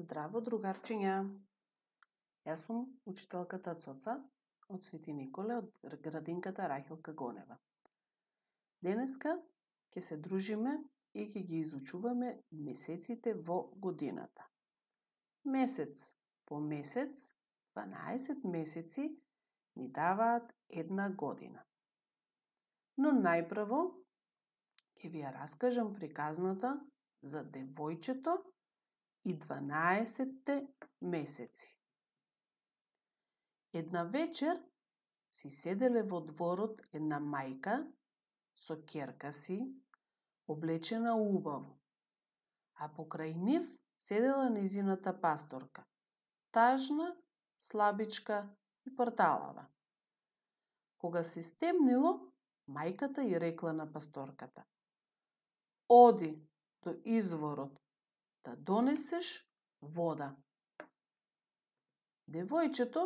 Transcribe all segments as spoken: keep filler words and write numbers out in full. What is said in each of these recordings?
Здраво, другарчиња! Јас сум учителката Цоца од Свети Николе од градинката Рахилка Гонева. Денеска ќе се дружиме и ќе ги изучуваме месеците во годината. Месец по месец, дванаесет месеци ни даваат една година. Но најпрво ќе ви ја раскажам приказната за девојчето и дванаесетте месеци. Една вечер си седеле во дворот една мајка со ќерка си, облечена убаво, а покрај нив седела нејзината пасторка, тажна, слабичка и парталава. Кога се стемнило, мајката ѝ рекла на пасторката: "Оди до изворот да донесеш вода." Девојчето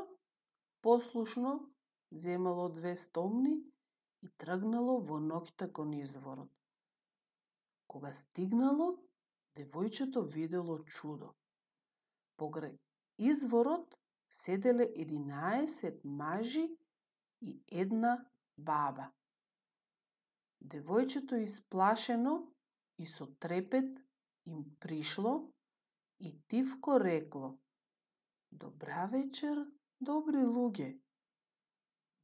послушно земало две стомни и тргнало во ноќта кон изворот. Кога стигнало, девојчето видело чудо. Покрај изворот седеле единаесет мажи и една баба. Девојчето исплашено и со трепет им пришло и тивко рекло: "Добра вечер, добри луѓе."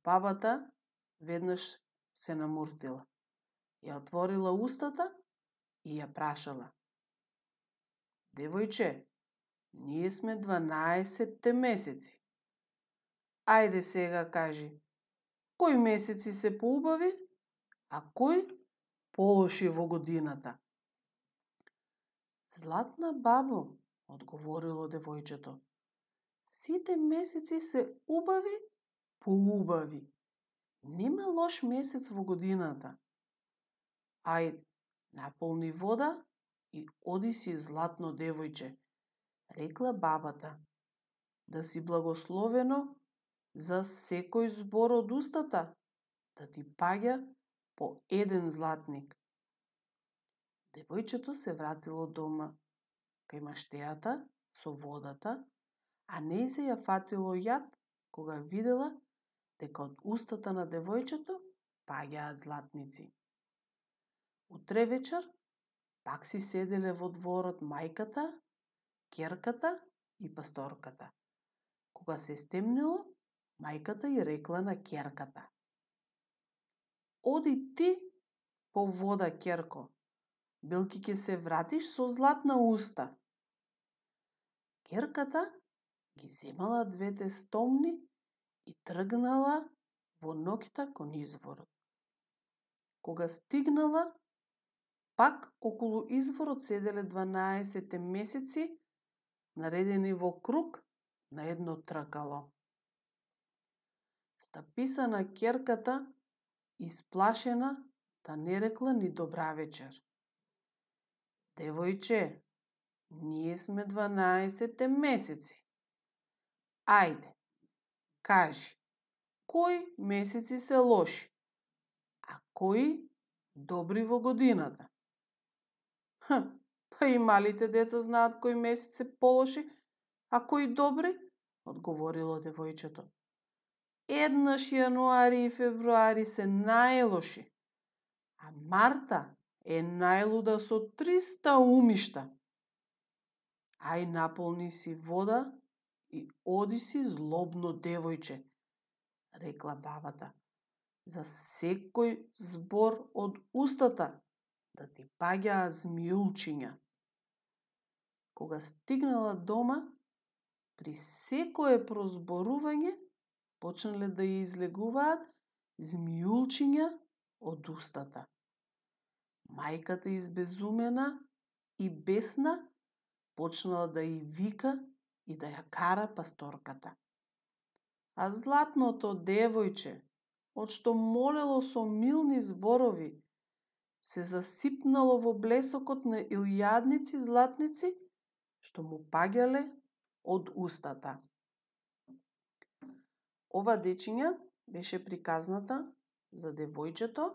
Бабата веднаш се намуртила, ја отворила устата и ја прашала: "Девојче, ние сме дванаесетте месеци. Ајде сега кажи, кои месеци се поубави, а кои полоши во годината?" "Златна бабо," одговорило девојчето, "сите месеци се убави, поубави. Нема лош месец во годината. Ајде, наполни вода и оди си златно девојче," рекла бабата, "да си благословено за секој збор од устата, да ти паѓа по еден златник." Девојчето се вратило дома кај маштејата со водата, а нејзе ја фатило јад кога видела дека од устата на девојчето паѓаат златници. Утре вечер пак си седеле во дворот мајката, ќерката и пасторката. Кога се стемнило, мајката ѝ рекла на ќерката: "Оди ти по вода, ќерко, белки ќе се вратиш со златна уста." Ќерката ги земала двете стомни и тргнала во ноќта кон изворот. Кога стигнала, пак околу изворот седеле дванаесетте месеци, наредени во круг на едно тркало. Стаписана ќерката, исплашена, та не рекла ни добра вечер. "Девојче, ние сме дванаесетте месеци. Ајде, кажи, кои месеци се лоши, а кои добри во годината?" "Х, па и малите деца знаат кои месеци се полоши, а кои добри," одговорило девојчето. "Еднаш јануари и февруари се најлоши, а марта е најлуда со триста умишта. Ај наполни си вода и оди си злобно девојче," рекла бабата, "за секој збор од устата да ти паѓаат змијулчиња." Кога стигнала дома, при секое прозборување почнале да ја излегуваат змијулчиња од устата. Мајката избезумена и бесна почнала да ја вика и да ја кара пасторката. А златното девојче, од што молело со милни зборови, се засипнало во блесокот на илјадници златници што му паѓале од устата. Ова, дечиња, беше приказната за девојчето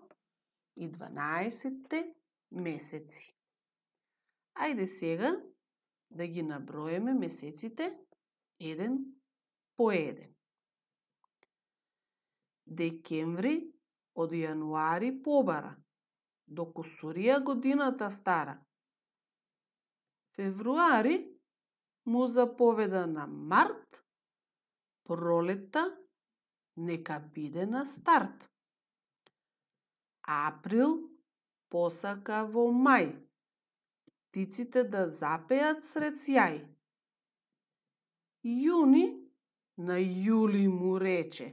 и дванаесетте месеци. Ајде сега да ги наброеме месеците еден по еден. Декември од јануари побара, доку сурија годината стара. Февруари му заповеда на март, пролетта нека биде на старт. Април посака во мај, птиците да запеат сред сјај. Јуни на јули му рече,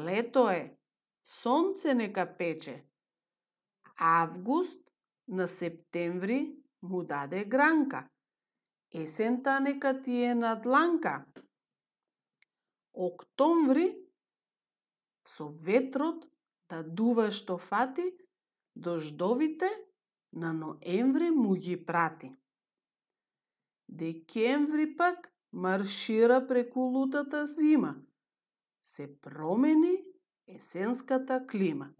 лето е, сонце нека пече. Август на септември му даде гранка, есента нека ти е на дланка. Октомври со ветрот да дува што фати, дождовите на ноември му ги прати. Декември пак маршира преку лутата зима, се промени есенската клима.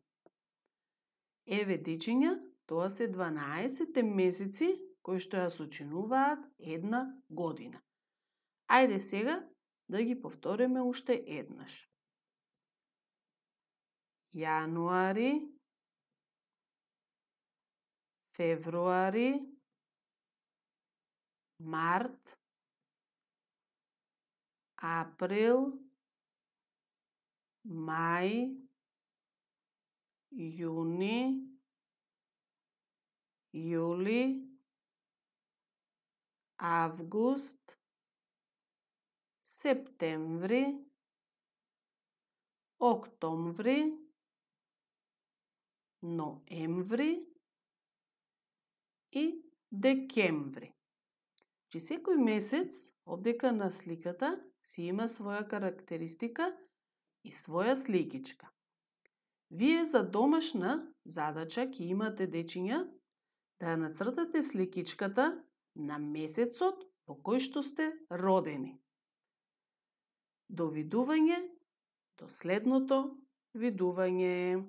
Еве дечиња, тоа се дванаесет месеци кои што ја сочинуваат една година. Ајде сега да ги повториме уште еднаш. Јануари, февруари, март, април, мај, јуни, јули, август, септември, октомври, ноември и декември. Че секој месец овдека на сликата си има своја карактеристика и своја сликичка. Вие за домашна задача ќе имате, дечиња, да ја нацртате сликичката на месецот во кој што сте родени. До видување, до следното видување.